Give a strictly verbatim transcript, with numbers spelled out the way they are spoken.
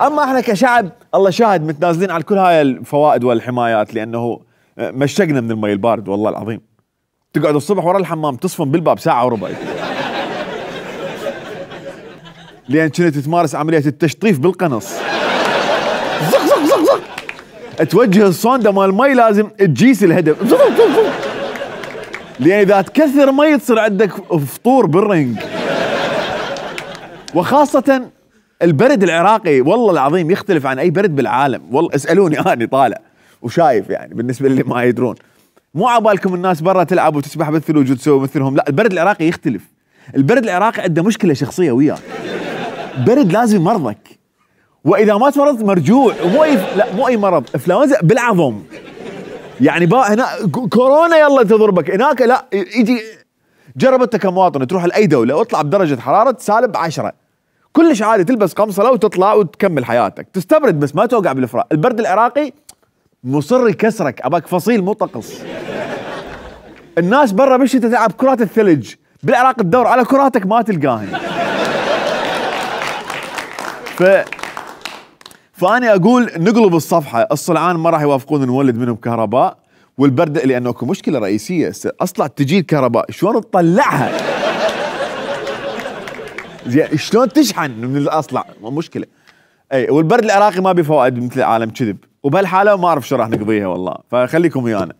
اما احنا كشعب الله شاهد متنازلين عن كل هاي الفوائد والحمايات، لانه مشقنا من المي البارد والله العظيم. تقعد الصبح ورا الحمام تصفن بالباب ساعه وربع لين كنت تمارس عمليه التشطيف بالقنص. زق زق زق زق توجه الصوندا مال المي لازم تجيس الهدف. زق زق زق لان اذا تكثر مي تصير عندك فطور بالرنج. وخاصه البرد العراقي والله العظيم يختلف عن اي برد بالعالم، والله اسالوني انا طالع وشايف يعني بالنسبه اللي ما يدرون. مو عبالكم الناس برا تلعب وتسبح بالثلوج وتسوي مثلهم، لا البرد العراقي يختلف. البرد العراقي عنده مشكله شخصيه وياك، برد لازم مرضك، واذا ما تمرضت مرجوع. ومو اي لا مو اي مرض، انفلونزا بالعظم يعني. با هنا كورونا يلا تضربك، هناك لا يجي. جرب انت كمواطن تروح لاي دوله واطلع بدرجه حراره سالب عشرة كلش عادي، تلبس قمصله وتطلع وتكمل حياتك، تستبرد بس ما توقع بالفراق. البرد العراقي مصر يكسرك، اباك فصيل مو طقس. الناس برا بالشتاء تلعب كرات الثلج، بالعراق تدور على كراتك ما تلقاهن. ف فاني اقول نقلب الصفحه، الصلعان ما راح يوافقون نولد منهم كهرباء، والبرد لانه اكو مشكله رئيسيه اصلا تجي الكهرباء شلون تطلعها؟ زين شلون تشحن من الاصلع؟ مشكله. اي والبرد العراقي ما بفوائد مثل العالم كذب، وبهالحاله ما اعرف شو راح نقضيها والله، فخليكم ويانا.